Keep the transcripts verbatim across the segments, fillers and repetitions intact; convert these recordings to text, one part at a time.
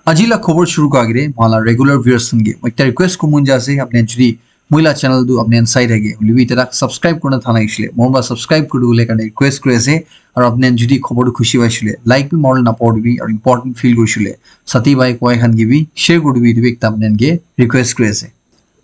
Aji la khobor shuru kura agere, moi la regular viewers khan ke moi ekta request kuribo mon jai ase, apni khan jodi moi la channel tu apni khan sai thake, hoile bi etia tak subscribe kurina tha nai shile, moi ba subscribe kuri dibole karne request kuri ase, aru apni khan jodi khobor tu khushi pai shile, like bi mari na pori dibi, aru important feel kuri shile, sati bhai koi khan ke bi share kuri dibi, etu bi ekta apni khan ke request kuri ase.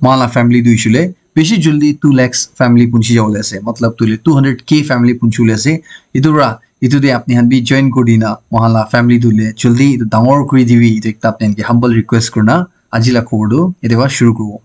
Moi la family tu hoile bishi jaldi two lakhs family punchi jabole ase, matlab tu hoile two hundred K family punchi bole ase. Etu para etu te apni khan bi join kuri dina moi la family tu hoile jaldi etu dangor kuri dibi, etu ekta apni khan ke humble request kurina aji la khobor tu ete para shuru kuribo.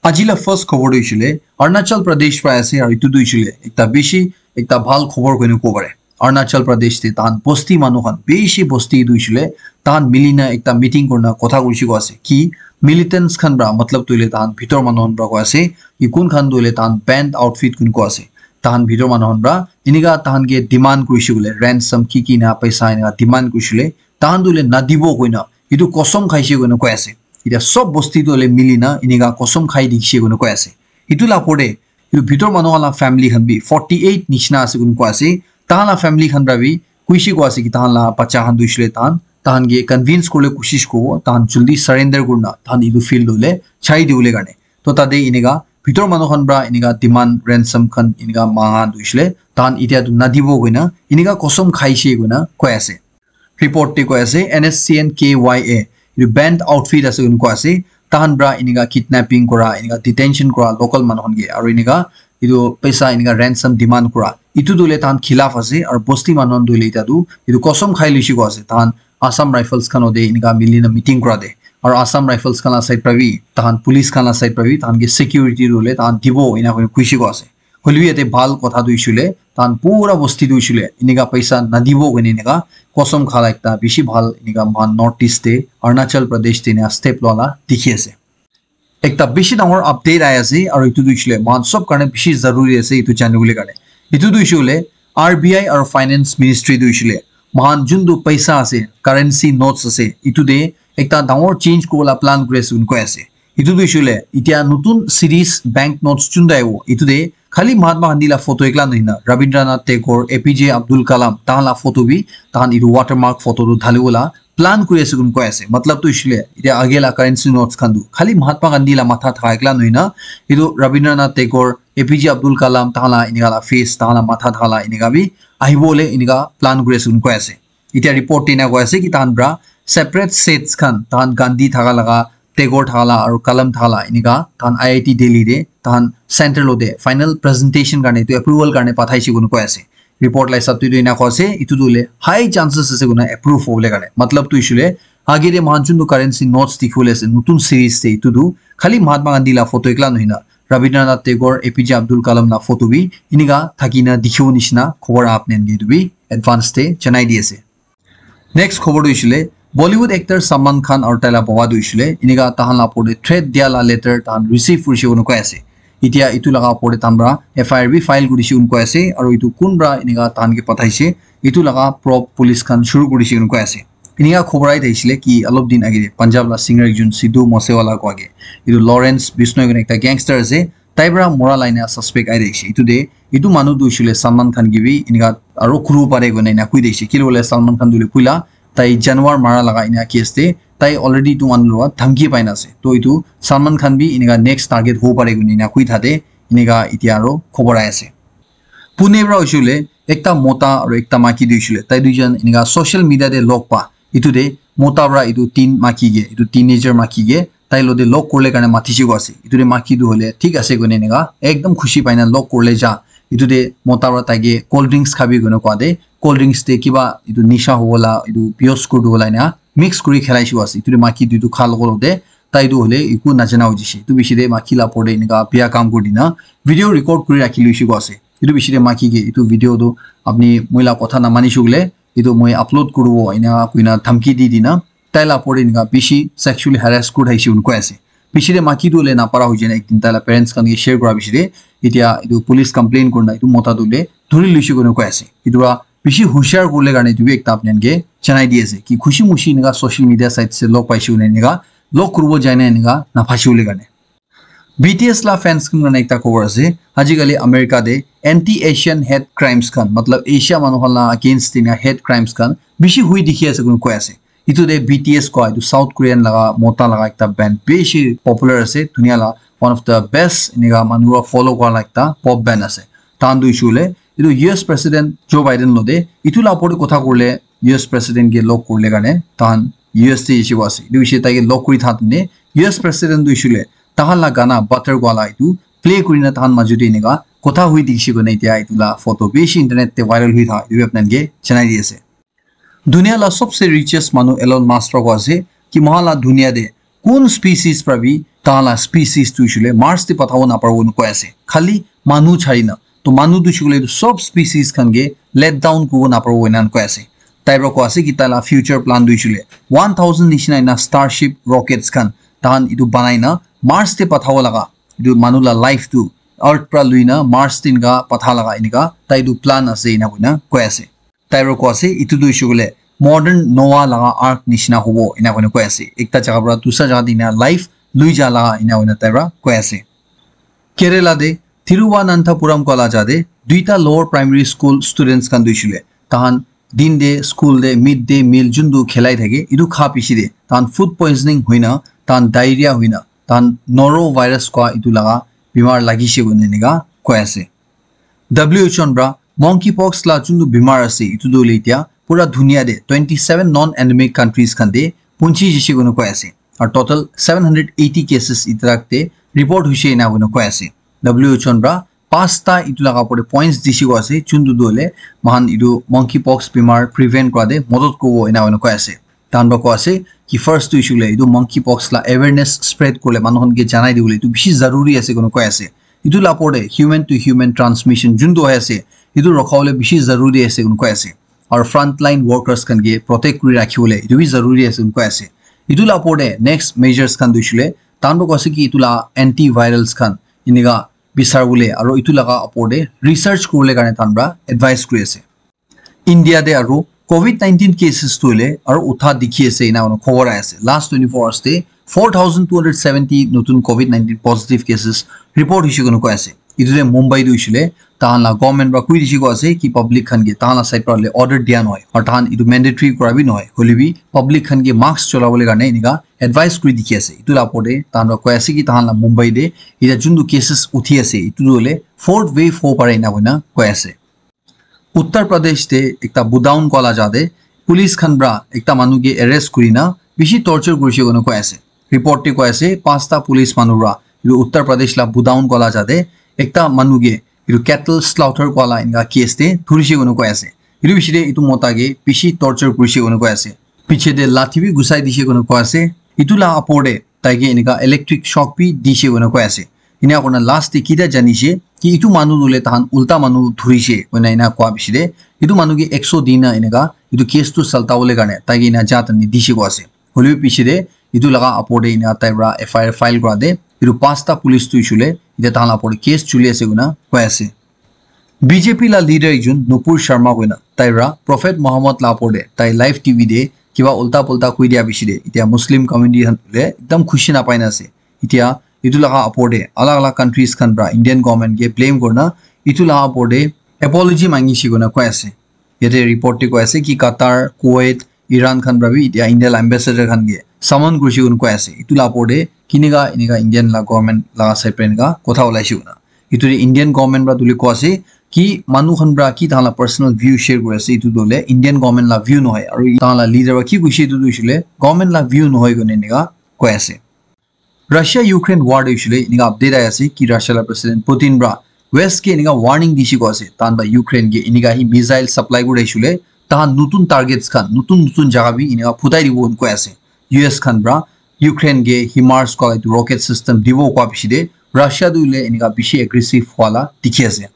Aji la first khobor tu hoile Arunachal Pradesh para ase, aru etu tu hoile ekta bishi ekta bhal khobor koina kobo pare. Arunachal Pradesh te tahan bosti manu khan, bishi bosti tu hoile tahan milina ekta meeting kurina kotha kurishi ko ase ki militants khan para, matlab tu hoile tahan bhitor manu khan para ko ase, ki kun khan tu hoile tahan band outfit kun ko ase. Tahan bhitor manu khan para enika tahan ke demand kurishi bole, ransom ki ki na paisa enika demand kurishi bole, tahan tu hoile nadibo koina etu kosom khaishe koina koi ase. Etia sob bosti tu hoile milina enika kosom khai dikhishe koina koi ase. Etu la opor te etu bhitor manu khan la family khan bi forty eight nishina ase koina koi ase. Tahan la family khan para bi kuishi ko ase ki tahan la bacha khan tu hoile tahan, tahan ke convince kuribole koshish kuribo, tahan jaldi surrender kurina tahan etu field tu hoile chai dibole karne. To tate enika bhitor manu khan para enika demand ransom khan enika manga tu hoile tahan etia tu nadibo koina enika kosom khaishe koina koi ase. Report te koi ase N S C N K Y A, etu band outfit ase koina koi ase, tahan para enika kidnapping kura, enika detention kura local manu khan ke, aru enika etu paisa enika ransom demand kura, etu tu hoile tahan khilaf ase, aru bosti manu khan tu hoile etia tu etu kosom khai lushi ko ase. Tahan Assam Rifles khan ode enika milina meeting kura te, aru Assam Rifles khan la side para bi, tahan police khan la side para bi tahan ke security tu hoile tahan dibo ena koina kuishi ko ase. Hoile bi yate bhal kotha tu hoile tahan pura bosti tu hoile enika paisa nadibo koina enika kosom khala ekta bishi bhal enika moikhan North East te, Arunachal Pradesh te enika step loa la dikhi ase. Ekta bishi dangor update ahi ase, aru etu tu hoile moikhan sob karne bishi zaruri ase etu janibole karne. Etu tu hoile R B I aru Finance Ministry tu hoile moikhan juntu paisa ase, currency notes ase, etu te ekta dangor change kuribola plan kuri ase koina koi ase. Etu tu hoile etia notun series bank notes juntu ahibo, etu te khali Mahatma Gandhi la photo ekla nohoi na Rabindranath Tagore, A P J Abdul Kalam tahan la photo bi, tahan etu watermark photo tu dhalibola plan kuri ase koina koi ase. Matlab tu hoile etia age la currency notes khan tu khali Mahatma Gandhi la matha thaka ekla nohoi na, etu Rabindranath Tagore, A P J Abdul Kalam tahan la enika la face, tahan la matha thaka la enika bi ahibole enika plan kuri ase koina koi ase. Etia report te ena koi ase ki tahan para separate sets khan, tahan Gandhi thaka laga, Tagore thaka la aru Kalam thaka la enika tahan I I T Delhi te tahan center lo te final presentation karne etu approval karne pathaishe koina koi ase. Report la hisab te tu ena koi ase, etu tu hoile high chances ase koina approve hobole karne. Matlab tu hoile age te moikhan juntu currency notes dikhibole ase notun series te, etu tu khali Mahatma Gandhi la photo ekla nohoi na Rabindranath Tagore, A P J Abdul Kalam la photo bi enika thakina dikhibo nishina khobor apni khan ke etu bi advance te janai di ase. Next khobor tu hoile Bollywood actor Salman Khan aru tai la baba tu hoile enika tahan la opor te threat dia la letter tahan receive kurishe koina koi ase. Etia etu laga opor te tahan para F I R bi file kurishe koina koi ase, aru etu kun para enika tahan ke pathaishe, etu laga probe police khan shuru kurishe koina koi ase. Enika khobor ahi thakisile ki olop din age te Punjab la singer ekjon Sidhu Moosewala koi ke, etu Lawrence Bishnoi koina ekta gangster ase, tai para mora la ena suspect ahi thakishe. Etu te etu manu tu hoile Salman Khan ke bi enika aru kuribo pare koina ena koi thakishe. Kile hoile Salman Khan tu hoile puila tai janwar mara laga ena case te tai already etu manu para dhamki pai na ase. To etu Salman Khan bi enika next target hobo pare koina ena koi thate enika etia aru khobor ahi ase. Pune para hoile ekta mota aru ekta maiki tu hoile tai duijon enika social media te log pa. Etu te mota para etu teen maiki ke, etu teenager maiki ke tai lo te log kuribole karne matishe koa ase. Etu te maiki tu hoile thik ase koina enika ekdam khushi pai na log kuribole ja. Etu te mota para tai ke cold drinks khabi koina koa te, cold drinks te kiba etu nisha hobo la, etu biyos kuri dibo la ena mix kuri khelaishe koa ase. Etu te maiki tu etu kha logo logo te tai tu hoile eku najana hoi jaise. Etu bishi te maiki la opor te enika biya kam kuri dina video record kuri rakhi loishe koa ase. Etu bishi te maiki ke etu video tu apni moi la kotha na manishe koile etu moi upload kuribo ena koina dhamki di dina tai la opor te enika bishi sexually harass kuri thakishe koina koi ase. Bishi te maiki tu hoile napara hoi jai na ekdin tai la parents khan ke share kura bishi te etia etu police complaint kurina etu mota tu hoile dhuri loishe koina koi ase. Etu para bishi hushiar kuribole karne etu bi ekta apni khan ke janai di ase ki khushi mushi enika social media site se log paishe koile enika log kuribo jai na enika naphashe bole karne. B T S la fans khan karne ekta khobor ase. Ajikali America te anti-Asian hate crimes khan, matlab Asia manu khan la against te enika hate crimes khan bishi hui dikhi ase koina koi ase. Etu te B T S koa etu South Korean laga mota laga ekta band bishi popular ase, dunia la one of the best enika manu para follow kura la ekta pop band ase. Tahan tu hoishe koile etu U S President Joe Biden lote etu la opor te kotha kurile U S President ke log kurile karne tahan U S te ase. Etu hoishe tai ke log kuri tha tene U S President tu hoishe koile tahan la gana Butter koa la etu play kurina tahan maju te enika kotha hui dikhishe koina etia etu la photo bishi internet te viral hui tha etu bi apni khan ke janai di ase. Dunia la sobse richest manu Elon Musk para koi ase ki moikhan la dunia te kun species para bi tahan la species tu hoishe koile Mars te pathabo naparibo koi ase, khali manu chari na. To manu tu hoishe koile etu sob species khan ke let down kuribo naparibo enan koi ase. Tai para koi ase ki tai la future plan tu hoishe koile one thousand nishina ena Starship rockets khan tahan etu banai na Mars te pathabo laga etu manu la life tu Earth para lui na Mars te enika patha laga enika tai etu plan ase ena koina koi ase. Tai para koi ase etu tu hoishe koile modern Noah laga ark nishina hobo ena koina koi ase. Ekta jaga para dusra jaga te ena life lui ja laga ena koina tai para koi ase. Kerala te Thiruvananthapuram koa la jaga te duita lower primary school students khan tu hoishe koile tahan din te school te midday meal juntu khilai thake etu kha piche te tahan food poisoning hoina tahan diarrhea hoina tahan norovirus koa etu laga bimar lagishe koina enika koi ase. W H O para monkeypox la juntu bimar ase etu tu hoile etia pura dunia te twenty seven non endemic countries khan te punchi jishe koina koi ase. Aru total seven hundred eighty cases etia te report hoishe ena koina koi ase. W H O para pasta etu laga opor te points dishe koi ase juntu tu hoile moikhan etu monkeypox bimar prevent kura te modot kuribo ena koina koi ase. Tahan para koi ase ki first tu hoishe koile etu monkeypox la awareness spread kurile manu khan ke janai dibole etu bishi zaruri ase koina koi ase. Etu la opor te human to human transmission juntu hoi ase etu rokha bole bishi zaruri ase koina koi ase. Aru frontline workers khan ke protect kuri rakhi bole etu bi zaruri ase koina koi ase. Etu la opor te next measures khan tu hoishe koile tahan para koi ase ki etu la antivirals khan enika bisar bole aru etu laga opor te research kuribole karne tahan para advice kuri ase. India te aru covid nineteen cases tu hoile aru utha dikhi ase ena koina khobor ahi ase. Last twenty-four hours te four thousand two hundred seventy notun covid nineteen positive cases report hoishe koina koi ase. Etu te Mumbai tu hoishe koile tahan la government para koi dishe koi ase ki public khan ke tahan la side para hoile order dia nohoi aru tahan etu mandatory kura bi nohoi, hoile bi public khan ke mask chola bole karne enika advice kuri dikhi ase. Etu la opor te tahan para koi ase ki tahan la Mumbai te etia juntu cases uthi ase etu tu hoile fourth wave hobo pare ena koina koi ase. Uttar Pradesh te ekta Budaun koa la jaga te police khan para ekta manu ke arrest kuri na bishi torture kurishe koina koi ase. Report te koi ase pasta police manu para etu Uttar Pradesh la Budaun koa la jaga te ekta manu ke etu cattle slaughter koa la enika case te dhurishe koina koi ase. Etu bishi te etu mota ke bishi torture kurishe koina koi ase. Piche te lathi bi ghusai dishe koina koi ase. Etu la opor te tai ke enika electric shock bi dishe koina koi ase. Ena koina last te kita janishe ki etu manu tu hoile tahan ulta manu dhurishe koina ena koa piche te etu manu ke ekso dina enika etu case tu salta bole karne tai ke ena ja tani dishe koi ase. Hoile bi piche te etu laga opor te ena tai para F I R file kura te etu pasta police tu hoishe koile etia tahan la opor te case chuli ase koina koi ase. B J P la leader ekjon Nupur Sharma koina tai para Prophet Muhammad la opor te tai live T V te kiba ulta pulta koi dia piche te etia Muslim community khan hoile ekdam khushi napai na ase. Etia etu laga opor te alag alag countries khan para Indian government ke blame kurina etu laga opor te apology mangishe koina koi ase. Yate report te koi ase ki Qatar, Kuwait, Iran khan para bi etia India la ambassador khan ke summon kurishe koina koi ase. Etu la opor te kinika enika Indian la government la side para enika kotha ulaishe koina. Etu te Indian government para tu hoile koi ase ki manu khan para ki tahan la personal view share kuri ase, etu tu hoile Indian government la view nohoi, aru tahan la leader para ki koishe etu tu hoishe koile government la view nohoi koina enika koi ase. Russia Ukraine war te hoishe koile enika update ahi ase ki Russia la President Putin para West ke enika warning dishe koi ase, tahan para Ukraine ke enika hi missile supply kuri hoishe koile tahan notun targets khan, notun notun jaga bi enika phutai dibo koi ase. U S khan para Ukraine ke HIMARS koa etu rocket system dibo koa piche te Russia tu hoile enika bishi aggressive hua la dikhi ase.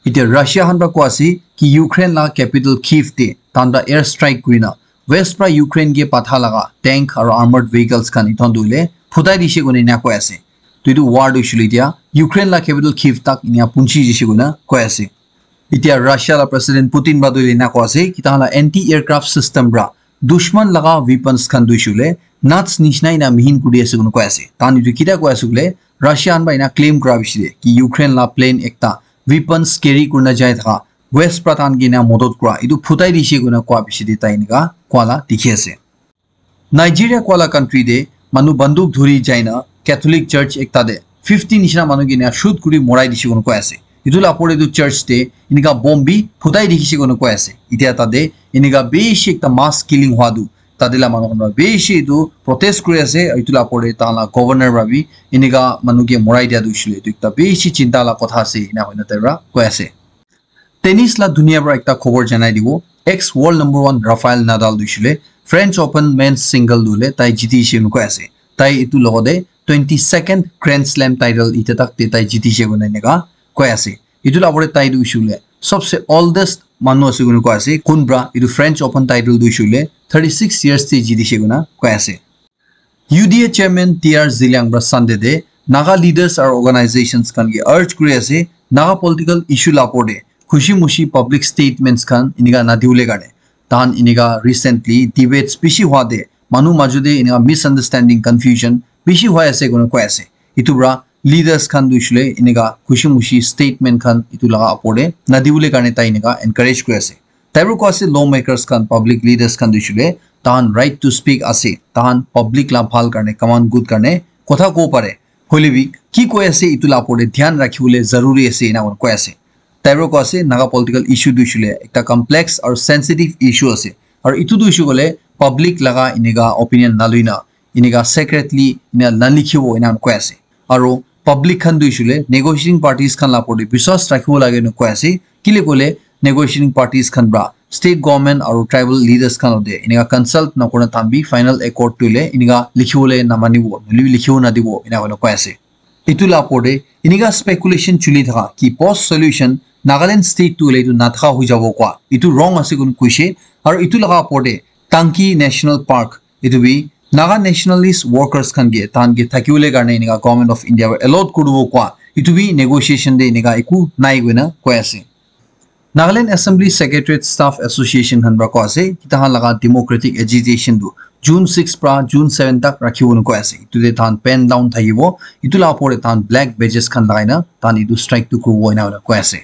Etia Russia khan para koi ase ki Ukraine la capital Kyiv te tahan para air strike kurina West para Ukraine ke patha laga tank aru armored vehicles khan etu khan tu hoile phutai dishe koina enika koi ase. To etu war tu hoishe koile etia Ukraine la capital Kyiv tak enika punchi dishe koina koi ase. Etia Russia la President Putin para tu etu enika koi ase ki tahan la anti aircraft system para dushman laga weapons khan tu hoishe koile nuts nishina enika mihin kuri ase koina koi ase. Tahan etu kita koi ase koile Russia khan para enika claim kura piche te ki Ukraine la plane ekta weapons carry kurina jai thaka West para tahan ke enika modot kura etu phutai dishe koina koa piche te tai enika koa la dikhi ase. Nigeria koa la country te manu banduk dhuri jaina Catholic church ekta te fifty nishina manu ke enia shoot kuri morai dishe koina koi ase. Etu la opor te etu church te enika bomb bi phutai dikhishe koina koi ase. Itia tate enika bishi ekta mass killing hwa tu tate la manu khan para bishi etu protest kuri ase. Etu la opor te tahan la governor para bi enika manu ke morai dia tu hoishe le etu ekta bishi chinta la kotha ase ena koina tai para koi ase. Tennis la dunia para ekta khobor janai dibo. Ex world number one Rafael Nadal tu hoishe le French Open men's single tu le tai jiti she koina koi ase. Tai etu logote twenty second Grand Slam title ite tak te tai jiti she koina enika koi ase. Etu la opor te tai tu hoishe le sobse oldest manu ase koina koi ase. Kun para etu French Open title tu hoishe le thirty six years te jiti she koina koi ase. U D A chairman T R Zeliang para Sunday te Naga leaders aru organizations khan ke urge kuri ase Naga political issue la opor te khushi mushi public statements khan enika na diwole karne. Tahan enika recently debates bishi hwa te manu maju te enika misunderstanding, confusion bishi hwa ase koina koi ase. Etu para leaders khan tu hoishe le enika khushi mushi statement khan etu laga opor te na diwole karne tai enika encourage kuri ase. Tai para koi ase lawmakers khan, public leaders khan tu hoishe le tahan right to speak ase, tahan public la bhal karne, common good karne kotha kobo pare. Hoile bi ki koi ase etu la opor te dhyan rakhi bole zaruri ase ena koina koi ase. Tai para koi ase Naga political issue tu hoishe le ekta complex aru sensitive issue ase. Aru etu tu hoishe koile public laga enika opinion na lui na enika secretly ena na likhibo ena koi ase. Aru public khan tu hoishe le negotiating parties khan la opor te biswas rakhibo lage ena koi ase. Kile koile negotiating parties khan para state government aru tribal leaders khan logote enika consult na kurina tahan bi final accord tu le enika likhiwole na manibo, nahole bi likhiwo na dibo ena koina koi ase. Etu la opor te enika speculation chuli thaka ki post solution Nagaland state tu le etu na thaka hoi jabo koa etu wrong ase koina koishe. Aru etu laga opor te Tangki National Park etu bi Naga nationalist workers khan ke tahan ke thakiwole karne enika Government of India para allot kuribo koa etu bi negotiation te enika eku nai koina koi ase. Nagaland Assembly Secretariat Staff Association khan para koi ase ki tahan laga democratic agitation tu June six para June seven tak rakhibo na koi ase. Etu te tahan pen down thakibo, etu la opor te tahan black badges khan lagai na tahan etu strike tu kuribo ena koi ase.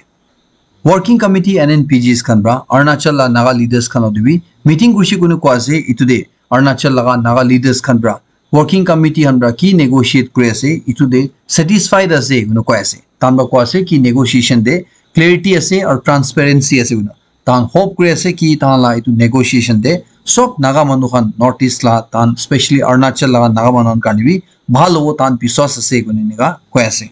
Working Committee N N P Gs khan para Arunachal la Naga leaders khan logote bi meeting kurishe koina koi ase. Etu te Arunachal laga Naga leaders khan para working committee khan para ki negotiate kuri ase etu te satisfied ase koina koi ase. Tahan para koi ase ki negotiation te clarity ase aru transparency ase koina. Tahan hope kuri ase ki tahan la etu negotiation te sob Naga manu khan North East la tahan specially Arunachal laga Naga manu khan karne bi bhal hobo, tahan biswas ase koina enika koi ase.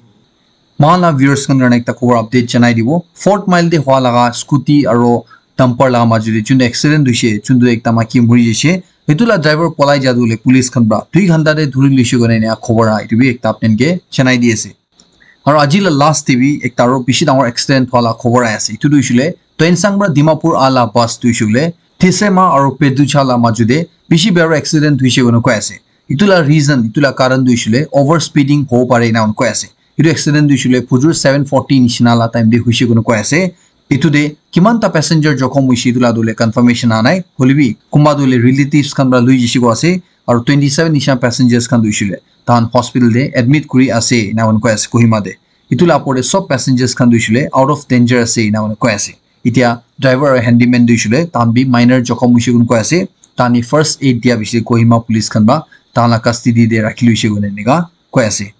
Moikhan la viewers khan karne ekta khobor update janai dibo. Fourth Mile te hua laga scooty aro dumper laga majo te juntu accident hoishe, juntu ekta maiki muri jaishe. Etu la driver polai ja tu hoile police khan para dui ghanta te dhuri loishe koina ena khobor aha, etu bi ekta apni khan ke janai di ase. Aro aji la last te bi ekta aro bishi dangor accident hua la khobor ahi ase. Etu tu hoishe le Tuensang para Dimapur aha la bus tu hoishe le Thisema aro Peducha la majo te bishi biya para accident hoishe koina koi ase. Etu la reason, etu la karan tu hoishe le over speeding hobo pare ena koi ase. Etu accident tu hoishe le phujur seven forty nishina la time te hoishe koina koi ase. Etu te kiman ta passenger jokhom hoishe etu la tu hoile confirmation aha nai. Hoile bi kunba tu hoile relatives khan para loi jaishe koi ase. Aro twenty seven nishina passengers khan tu hoishe le tahan hospital te admit kuri ase ena koi ase Kohima te. Etu la opor te sob passengers khan tu hoishe le out of danger ase ena koi ase. Etia driver aro handyman tu hoishe le tahan bi minor jokhom hoishe koina koi ase. Tahan ke first aid dia bishi Kohima police khan para tahan la custody te rakhi loishe koina enika koi ase.